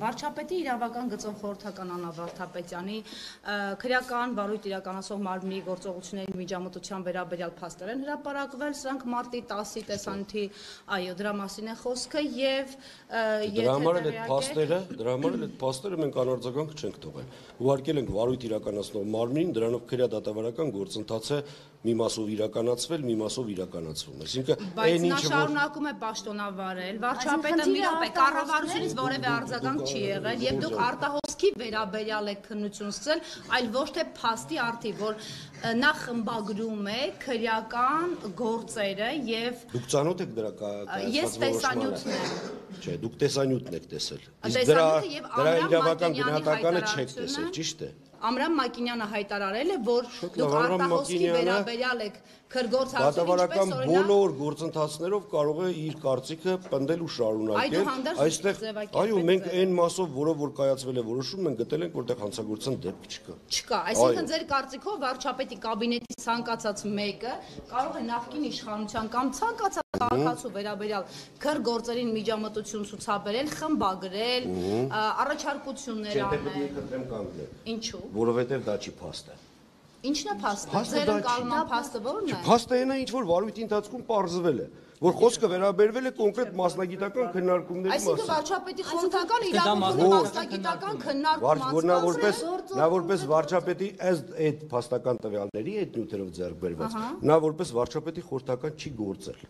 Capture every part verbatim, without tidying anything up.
Վարչապետի իրավական գծով խորհրդական Աննա Վարդապետյանի քրեական վարույթ իրականացող մարմնի գործողությունների միջամտության վերաբերյալ փաստեր են հրապարակվել, սրանք մարտի տասի տեսանյութի, այո, դրա մասին է խոսքը եւ Դրա համար էլ այդ փաստերը, դրա համար էլ այդ փաստերը մենք անարձագանք չենք թողել։ Ուղարկել ենք վարույթ իրականացնող մարմնին, դրանով քրեադատավարական գործընթաց է մի մասով իրականացվել, մի մասով իրականացվում։ Այսինքն այն ինչը որ շարունակում է պաշտոնավարել, վարչապետը մի րոպե կառավարությունից որևէ արձագանք չի եղել եւ դուք արտահոսքի վերաբերյալ եք քննություն սկսել, այլ ոչ թե փաստի արդի, որ նա խմբագրում է քրեական գործերը եւ Դուք ծանոթ եք դրա կայացած Ես տեսանյութն եմ Չէ, դուք տեսանյութն եք տեսել։ Իսկ դրա դրա իրավական գնահատականը չեք տեսել, ճիշտ է։ Ամրամ Մակինյանը հայտարարել է, որ դուք արտահոսքի վերաբերյալ եք քրգործածություն, ինչպես օրինակ բոլոր գործընթացներով կարող է իր կարծիքը պնդել ու շարունակել։ Այստեղ, այո, մենք այն մասով, որով որ կայացվել է որոշում, մենք գտել ենք, որտեղ հանցագործության դեպք չկա։ Չկա, այսինքն ձեր կարծիքով վարչապետի կաբինետի ցանկացած մեկը կարող է նախկին իշխանության կամ ցանկացած քաղաքացու վերաբերյալ քրգործերին միջամտություն ցուցաբերել, խմբագրել, առաջարկություններ անել։ Ինչու՞։ Որովհետև դա չի փաստ է։ Ինչն է փաստը։ Ձեր ընկալման փաստը ո՞րն է։ Փաստը այն է, ինչ որ վարույթի ընթացքում պարզվել է, որ խոսքը վերաբերվել է կոնկրետ մասնագիտական քննարկումների մասին։ Այսինքն վարչապետի խորհրդական իրավունքի մասնագիտական քննարկում որ նա որպես նա որպես վարչապետի ըստ այդ փաստական տվյալների այդ նյութերով ձեռք բերված, նա որպես վարչապետի խորհրդական չի գործել։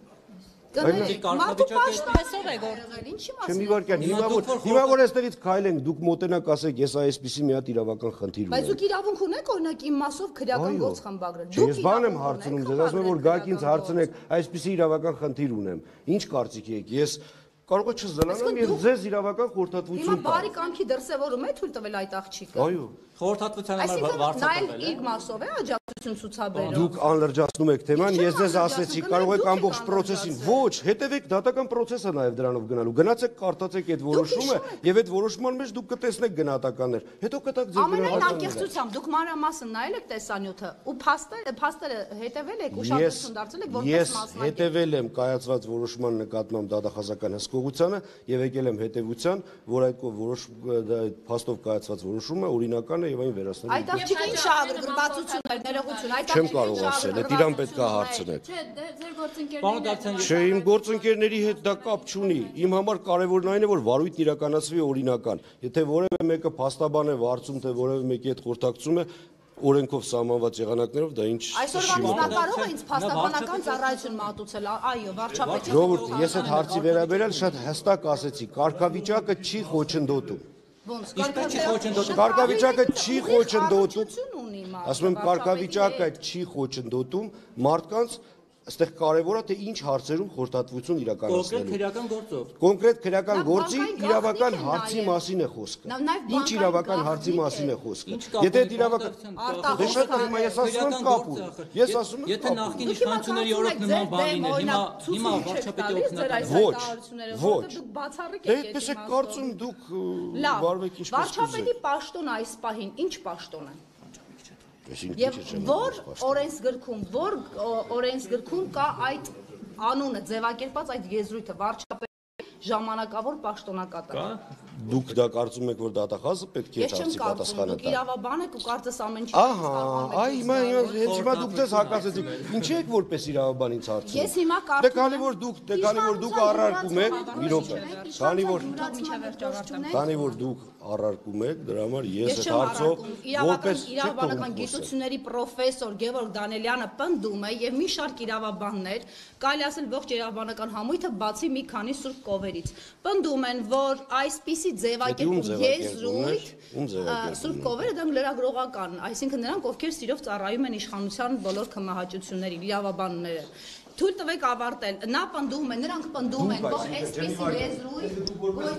Կարգավիճակով է գործել, ինչի մասին։ Չեմ իվարկյան, հիմա որ հիմա որ այստեղից քայլենք, դուք մոտենաք ասեք, ես այսպեսի մի հատ իրավական խնդիր ունեմ։ Բայց դուք իրավունք ունեք օրինակ իմ մասով քրեական գործ խմբագրել։ Ես բան եմ հարցնում ձեզ, ասում եմ որ գաք ինձ հարցնեք, այսպեսի իրավական խնդիր ունեմ։ Ինչ կարծիքի եք։ Ես կարող է չզլանամ եւ ձեզ իրավական խորհրդատվություն տամ։ Հիմա բարի կամքի դրսեւորում է թույլ տվել այդ աղջիկը։ Այո։ Խորհրդատվության համար վարձատրվել է։ Իր մասով է աջակցություն ցուցաբերում։ Դուք անլրջացնում եք թեման, ես ձեզ ասեցի, կարող եք ամբողջ process-ին։ Ոչ, հետևեք դատական process-ը նաեւ դրանով գնալու։ Գնացեք, կարդացեք այդ որոշումը եւ այդ որոշման մեջ դուք կտեսնեք գնահատականներ։ Հետո կտակ ձեր գնահատականները։ Ամենայն անկեղծությամբ դուք մանրամասն նայել եք տեսանյութը ու փաստերը փաստերը հետևել եք, ուշադրություն դարձել եք որպես մասնակից։ Ես հետևել եմ կայացված որոշման նկատմամբ դատախազական հսկողությանը եւ եկել եմ հետեւության, որ այդ որոշ փաստով կայացված որոշումը օրինական է եւ այն վերացնելու։ Այդ աղջիկը ինչ ագրգռվածություն էր, ներողություն, այդ Չեմ կարող ասել, այդ իրան պետք է հարցնեք։ Չէ, ձեր գործընկերները։ Չէ, իմ գործընկերների հետ դա կապ չունի։ Իմ համար կարևորն այն է, որ վարույթն իրականացվի օրինական։ Եթե որևէ մեկը փաստաբան է վարձում, թե որևէ մեկի հետ խորհրդակցում է, օրենքով սահմանված եղանակներով դա ինչ Այսօրվանից նա կարող է ինձ փաստաբանական ծառայություն մատուցել, այո, վարչապետը։ Ժողովուրդ, ես այդ հարցի վերաբերյալ շատ հստակ ասեցի, կարգավիճակը չի խոչընդոտում։ Ոնց կարգավիճակը չի խոչընդոտում։ Ասում եմ, կարգավիճակը չի խոչընդոտում մարդկանց Այստեղ կարևոր է թե ինչ հարցերում խորհրդատվություն իրականացնելու։ Կոնկրետ քրեական գործով։ Կոնկրետ քրեական գործի իրավական հարցի մասին է խոսքը։ Ինչ իրավական հարցի մասին է խոսքը։ Եթե իրավական Դե շատ հիմա ես ասում եմ կապ ունի։ Ես ասում եմ Եթե նախկին իշխանությունների օրոք նման բան լիներ, հիմա հիմա վարչապետի օգնական Ոչ, ոչ։ Դե այդպես է կարծում դուք վարվեք ինչպես կուզեք։ Վարչապետի պաշտոնը այս պահին ինչ պաշտոն է։ Եվ որ օրենսգրքում, որ օրենսգրքում կա այդ անունը ձևակերպած այդ եզրույթը վարչապետի ժամանակավոր պաշտոնակատար։ Դուք դա կարծում եք, որ դատախազը պետք է դարձի պատասխանը տա։ Դուք իրավաբան եք ու կարծես ամեն ինչ։ Ահա, այ հիմա հենց հիմա դուք դες հակասեցիք։ Ինչի եք որպես իրավաբան ինձ հարցնում։ Ես հիմա կարծում Դե քանի որ դուք, դե քանի որ դուք առարկում եք, մի րոպե։ Քանի որ Քանի որ դուք առարկում եք, դրա համար ես այդ հարցով որպես իրավաբանական գիտությունների պրոֆեսոր Գևորգ Դանելյանը պնդում է եւ մի շարք իրավաբաններ, կարելի ասել ողջ իրավաբանական համույթը բացի մի քանի սուրբ կովերից, պնդում են, որ այսպիսի ձևակերպում եզրույթ սուրբ կովերը դա լրագրողական, այսինքն նրանք ովքեր սիրով ծառայում են իշխանության բոլոր քմահաճություններին, իրավաբանները Թույլ տվեք ավարտել, նա պնդում է, նրանք պնդում են, որ այսպիսի եզրույթ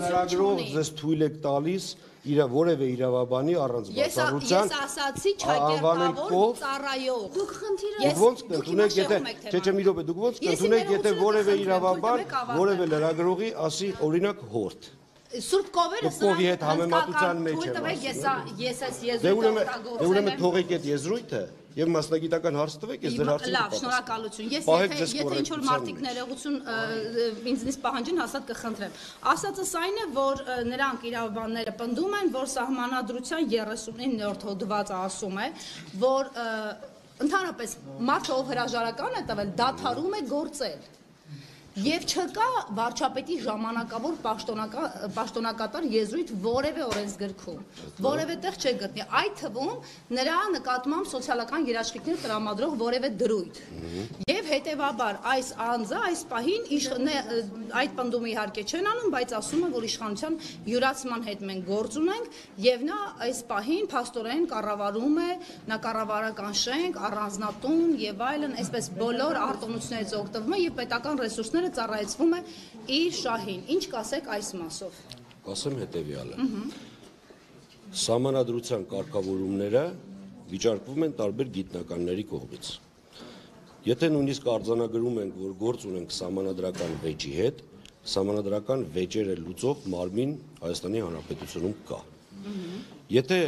լրագրող ձեզ թույլ եք տալիս իր որևէ իրավաբանի առանց բացառության Ես ասացի չակերտավոր ծառայող Դուք խնդիրը ոնց կընդունեք, եթե չէ, չէ, մի րոպե, դուք ոնց կընդունեք, եթե որևէ իրավաբան, որևէ լրագրողի ասի օրինակ հորդ Սուրբ կովերը Կովի հետ համեմատության մեջ է ասում։ Ես ես ես Դե ուրեմն թողեք այդ եզրույթը եւ մասնագիտական հարց տվեք, ես ձեր հարցին լավ, շնորհակալություն։ Ես եթե եթե ինչ-որ մարդիկ ներողություն ինձնից պահանջին, հաստատ կխնդրեմ։ Ասածս այն է, որ նրանք իրավաբանները պնդում են, որ Սահմանադրության երեսունիններորդ հոդվածը ասում է, որ ընդհանրապես մարդը, ով հրաժարական է տվել, դադարում է գործել։ Եվ չկա վարչապետի ժամանակավոր պաշտոնակատար եզրույթ որևէ օրենսգրքում, որևէ տեղ չէ գտնի, այդ թվում նրա նկատմամբ սոցիալական երաշխիքներ տրամադրող որևէ դրույթ։ Եվ հետևաբար այս անձը այս պահին այդ պնդումը իհարկե չեն անում, բայց ասում են, որ իշխանության յուրացման հետ մենք գործ ունենք, եւ նա այս պահին փաստորեն կառավարում է, նա կառավարական շենք, առանձնատուն եւ այլն, այսպես բոլոր արտոնություններից օգտվում է եւ պետական ռեսուրսները ծառայեցվում է իր շահին։ Ինչ կասեք այս մասով։ Կասեմ հետևյալը։ Սահմանադրության կարգավորումները վիճարկվում են տարբեր գիտնականների կողմից։ Եթե նույնիսկ արձանագրում ենք, որ գործ ունենք սահմանադրական վեճի հետ, սահմանադրական վեճերը լուծող մարմին Հայաստանի Հանրապետությունում կա։ Եթե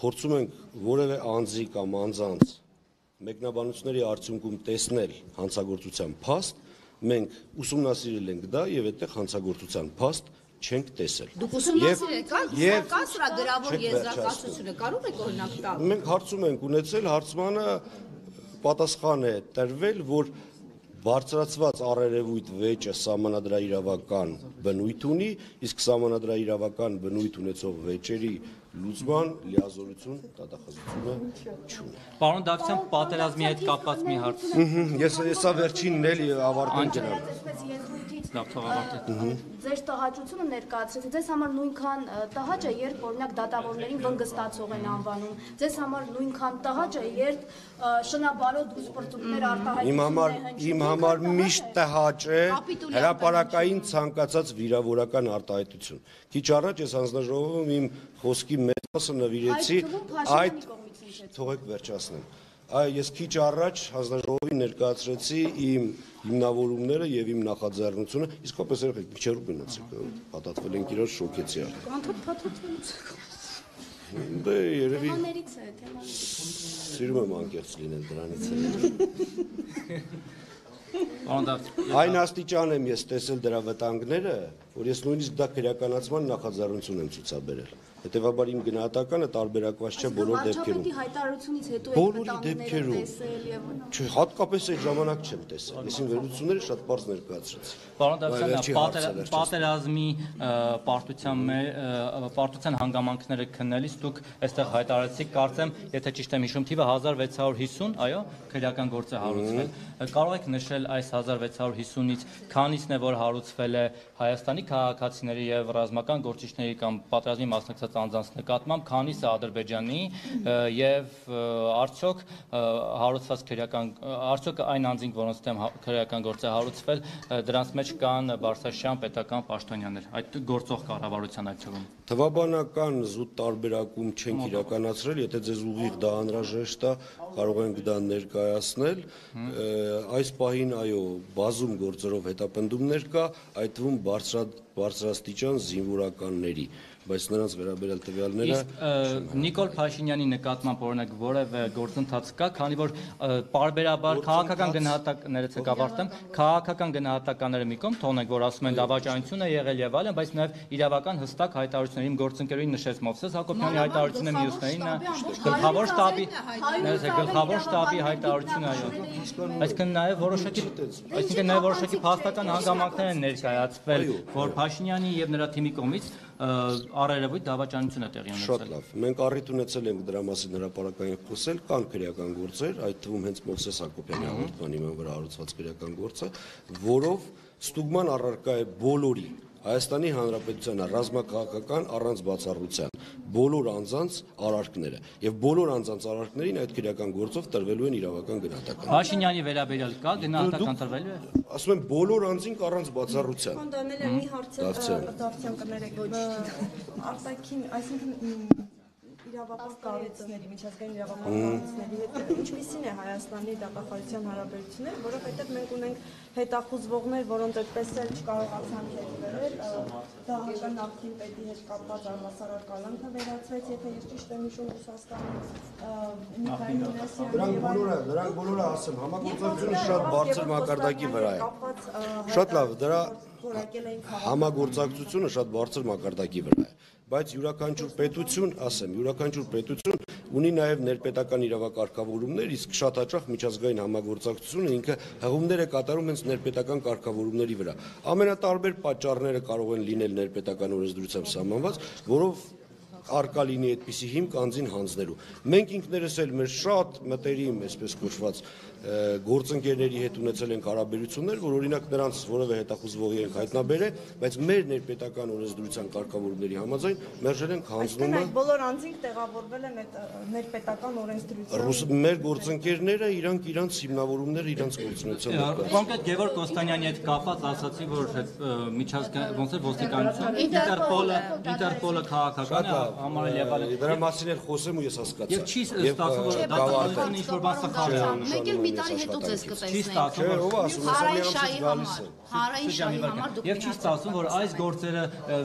փորձում ենք որևէ անձի կամ անձանց մեկնաբանությունների արդյունքում տեսնել հանցագործության փաստ, մենք ուսումնասիրել ենք դա եւ այդտեղ հանցագործության փաստ չենք տեսել։ Դուք ուսումնասիրել եք, կա սրա գրավոր եզրակացությունը, կարող եք օրինակ տալ։ Մենք հարցում ենք ունեցել, հարցմանը պատասխան է տրվել, որ բարձրացված առերևույթ վեճը սահմանադրաիրավական բնույթ ունի, իսկ սահմանադրաիրավական բնույթ ունեցող վեճերի լուծման լիազորություն դատախազությունը չունի։ Պարոն Դավթյան, պատերազմի հետ կապված մի հարց։ Ես հեսա վերջինն էլի ավարտել ջնամ։ Լավ, թող ավարտեք։ Ձեր տհաճությունը ներկայացրեցիք, ձեզ համար նույնքան տհաճ է, երբ օրինակ դատավորներին վնգստացող են անվանում։ Ձեզ համար նույնքան տհաճ է, երբ շնաբարոտ դուսպրծուկներ արտահայտում Իմ համար իմ համար միշտ տհաճ է հրապարակային ցանկացած վիրավորական արտահայտություն։ Քիչ առաջ ես հանձնաժողովում իմ խոսքի մեծ մասը նվիրեցի այդ թողեք վերջացնեմ։ Այ ես քիչ առաջ հանձնաժողովին ներկայացրեցի իմ հիմնավորումները եւ իմ նախաձեռնությունը, իսկապես երեք քիչ հեռու գնացեք, պատատվել ենք իրար շոկեցի արդեն։ Անդոդ փաթաթվելուց։ Դե երևի թեմաներից է, թեմաներից։ Սիրում եմ անկեղծ լինել դրանից է։ Պարոն Դավթյան, Այն աստիճան եմ ես տեսել դրա վտանգները, որ ես նույնիսկ դա քրեականացման նախաձեռնություն եմ ցուցաբերել։ Հետևաբար իմ գնահատականը տարբերակված չէ բոլոր դեպքերում։ Վարչապետի հայտարարությունից հետո եք Բոլոր վտանգները դեպքերում։ տեսել եւ Չէ, հատկապես այդ ժամանակ չեմ տեսել։ Ես իմ վերլուծությունները շատ բարձ ներկայացրեցի։ Պարոն Դավթյան, պատերազմի պարտության պարտության հանգամանքները քննելիս դուք այստեղ հայտարարեցիք, կարծեմ, եթե ճիշտ եմ հիշում, թիվը հազար վեց հարյուր հիսուն, այո, քրեական գործ է հարուցվել։ Կարող եք նշել այս հազար վեց հարյուր հիսունից քանիսն է, որ հարուցվել է Հայաստանի քաղաքացիների եւ ռազմական գործիչների կամ պատերազմի մասնակցած անձանց նկատմամբ, քանիսը Ադրբեջանի եւ արդյոք հարուցված քրեական արդյոք այն անձինք, որոնց դեմ քրեական գործ է հարուցվել, դրանց մեջ կան Բարսաշյան պետական պաշտոնյաներ, այդ գործող կառավարության այդ թվում։ Թվաբանական զուտ տարբերակում չենք իրականացրել, եթե ձեզ ուղիղ դա անհրաժեշտ է, կարող ենք դա ներկայացնել։ Այս պահին այո, բազում գործերով հետապնդումներ կա, այդ թվում բարձրաստիճան զինվորականների, բայց նրանց վերաբերյալ տվյալները Նիկոլ Փաշինյանի նկատմամբ օրինակ որևէ գործընթաց կա, քանի որ պարբերաբար քաղաքական գնահատականներից եք ավարտեմ, քաղաքական գնահատականները մի կողմ թողնենք, որ ասում են դավաճանություն է եղել եւ այլն, բայց նաեւ իրավական հստակ հայտարարություններ իմ գործընկերուին նշեց Մովսես Հակոբյանի հայտարարությունը մյուսներին գլխավոր շտաբի գլխավոր շտաբի հայտարարությունը այո, այսինքն նաեւ որոշակի այսինքն նաեւ որոշակի փաստական հանգամանքներ են ներկայացվել, որ Փաշինյանի եւ նրա թիմի կողմից առերևույթ դավաճանություն է տեղի ունեցել։ Շատ լավ։ Մենք առիթ ունեցել ենք դրա մասին հրապարակային խոսել, կան քրեական գործեր, այդ թվում հենց Մովսես Հակոբյանի հաղորդման հիման վրա հարուցված քրեական գործը, որով ստուգման առարկա է բոլորի Հայաստանի Հանրապետության ռազմաքաղաքական առանց բացառության բոլոր անձանց արարքները եւ բոլոր անձանց արարքներին այդ քրեական գործով տրվելու են իրավական գնահատական։ Փաշինյանի վերաբերյալ կա գնահատական տրվելու է։ Ասում եմ բոլոր անձին առանց բացառության։ Պարոն Դանելյան, մի հարց Դավթյան կներեք, ոչ արտաքին, այսինքն իրավապահ կառույցների, միջազգային իրավապահ կառույցների հետ ինչպիսին է Հայաստանի դատախազության հարաբերությունները, որովհետև մենք ունենք հետախուզվողներ, որոնց այդպես էլ չկարողացան հետևել, դահական նախկին պետի հետ կապված առհասարակ կալանքը վերացվեց, եթե ես ճիշտ եմ հիշում Ռուսաստանում, Միքայել Մինասյանը Դրանք բոլորը, դրանք բոլորը ասեմ, համագործակցությունը շատ բարձր մակարդակի վրա է։ Շատ լավ, դրա համագործակցությունը շատ բարձր մակարդակի վրա է, բայց յուրաքանչյուր պետություն, ասեմ, յուրաքանչյուր պետություն ունի նաև ներպետական իրավակարգավորումներ, իսկ շատ հաճախ միջազգային համագործակցությունը ինքը հղումներ է կատարում հենց ներպետական կարգավորումների վրա։ Ամենատարբեր պատճառները կարող են լինել ներպետական օրենսդրությամբ սահմանված, որով արկա լինի այդպիսի հիմք անձին հանձնելու։ Մենք ինքներս էլ մեր շատ մտերիմ, այսպես կոչված, գործընկերների հետ ունեցել ենք հարաբերություններ, որ օրինակ նրանց որևէ հետախուզվողի ենք հայտնաբերել, բայց մեր ներպետական օրենսդրության կարգավորումների համաձայն մերժել ենք հանձնումը։ Այդ բոլոր անձինք տեղավորվել են այդ ներպետական օրենսդրության։ Մեր գործընկերները իրանք իրանց հիմնավորումները իրանց գործունեության։ Կոնկրետ Գևորգ Կոստանյանի հետ կապված ասացի, որ միջազգային ոնց է ոստիկանություն, Ինտերպոլը, Ինտերպոլը քաղաքական է, համարել եղել։ Դրա մասին էլ խոսեմ ու ես հասկացա։ Եվ չի ստացվում, որ դատախազությունը ինչ-որ բան սխալ է։ Մեկ էլ մի տարի հետո ձեզ կտեսնենք։ Չէ, ով ասում է, Հարայշայի համար, Հարայշայի համար դուք Եվ չի ստացվում, որ այս գործերը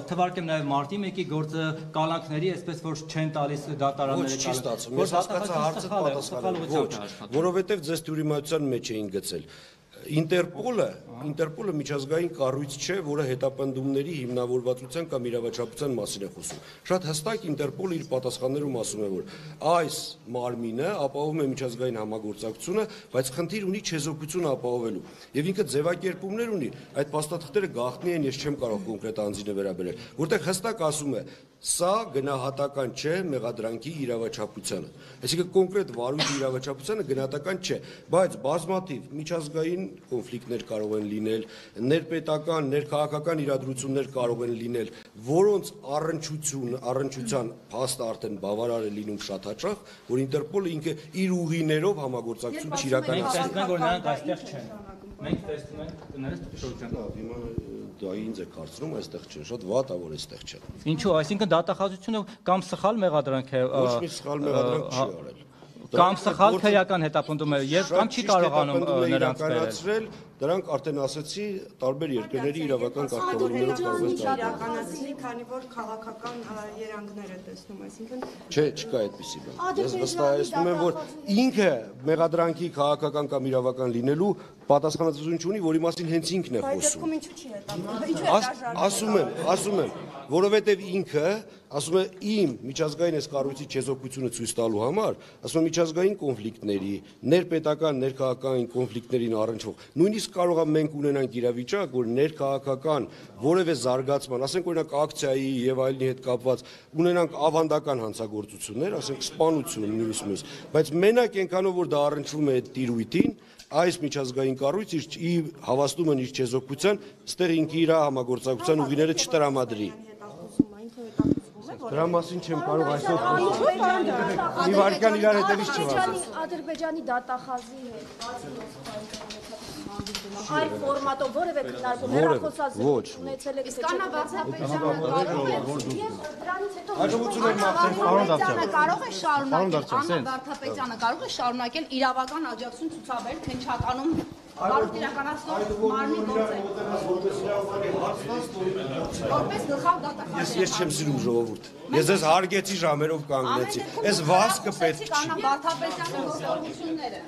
թվարկեմ նաև մարտի մեկի գործը կալանքների, այսպես որ չեն տալիս դատարանները։ Ոչ, չի ստացվում։ Ես հասկացա հարցը պատասխանը։ Ոչ, որովհետև ձեզ թյուրիմացության մեջ էին գցել։ Ինտերպոլը, Ինտերպոլը միջազգային կառույց չէ, որը հետապնդումների հիմնավորվածության կամ իրավաչափության մասին է խոսում։ Շատ հստակ Ինտերպոլը իր պատասխաններում ասում է, որ այս մարմինը ապահովում է միջազգային համագործակցությունը, բայց խնդիր ունի չեզոքությունը ապահովելու։ Եվ ինքը ձևակերպումներ ունի, այդ փաստաթղթերը գաղտնի են, ես չեմ կարող կոնկրետ անձինը վերաբերել, որտեղ հստակ ասում է, սա գնահատական չէ մեղադրանքի իրավաչափությանը։ Այսինքն կոնկրետ վարույթի իրավաչափությանը գնահատական չէ, բայց բազմաթիվ միջազգային կոնֆլիկտներ կարող են լինել, ներպետական, ներքաղաքական իրադրություններ կարող են լինել, որոնց առնչություն, առնչության փաստը արդեն բավարար է լինում շատ հաճախ, որ Ինտերպոլը ինքը իր ուղիներով համագործակցություն չիրականացնում։ Մենք տեսնում ենք, որ նրանք այստեղ չեն։ Մենք տեսնում ենք կներես դուք Հիմա դա ինձ է կարծում, այստեղ չեն, շատ վատ է, որ այստեղ չեն։ Ինչու, այսինքն դատախազությունը կամ սխալ մեղադրանք է Ոչ մի սխալ մեղադրանք չի արել։ Կամ սխալ քրեական հետապնդում է եւ կամ չի կարողանում նրանց իրականացրել, դրանք արդեն ասացի, տարբեր երկրների իրավական կարգավորումներով կարող են իրականացնել, քանի որ քաղաքական երանգներ է տեսնում, այսինքն Չէ, չկա այդպիսի բան։ Ես վստահեցնում եմ, որ ինքը մեղադրանքի քաղաքական կամ իրավական լինելու պատասխանատվություն չունի, որի մասին հենց ինքն է խոսում։ Բայց ինչու՞ չի հետապնդում։ Ասում եմ, ասում եմ, որովհետև ինքը ասում է իմ միջազգային այս կառույցի չեզոքությունը ցույց տալու համար, ասում է միջազգային կոնֆլիկտների, ներպետական, ներքաղաքական կոնֆլիկտներին առնչվող, նույնիսկ կարող է մենք ունենանք իրավիճակ, որ ներքաղաքական որևէ զարգացման, ասենք օրինակ ակցիայի եւ այլնի հետ կապված ունենանք ավանդական հանցագործություններ, ասենք սպանություն մյուս մյուս, բայց մենակ այնքանով որ դա առնչվում է այդ տիրույթին, այս միջազգային կառույցը իր հավաստում են իր չեզոքության, ստեղ ինքը իր համագործակցության ուղիները չտրամադրի։ Դրա մասին չեմ կարող այսօր խոսել։ Մի վարքյան իրար հետևից չվազես։ Ադրբեջանի դատախազի հետ այլ ֆորմատով որևէ քննարկում հեռախոսազրույց ունեցել եք Կանա Վարդապետյանը կարող է շարունակել, Աննա Վարդապետյանը կարող է շարունակել իրավական աջակցություն ցուցաբերել քննչականում Կարող իրականացնող մարմնի գործ է։ Որպես գլխավոր դատախազ։ Ես ես չեմ սիրում ժողովուրդ։ Ես ես հարգեցի ժամերով կանգնեցի։ Այս վազքը պետք չի։ Կանա Վարդապետյանի գործողությունները։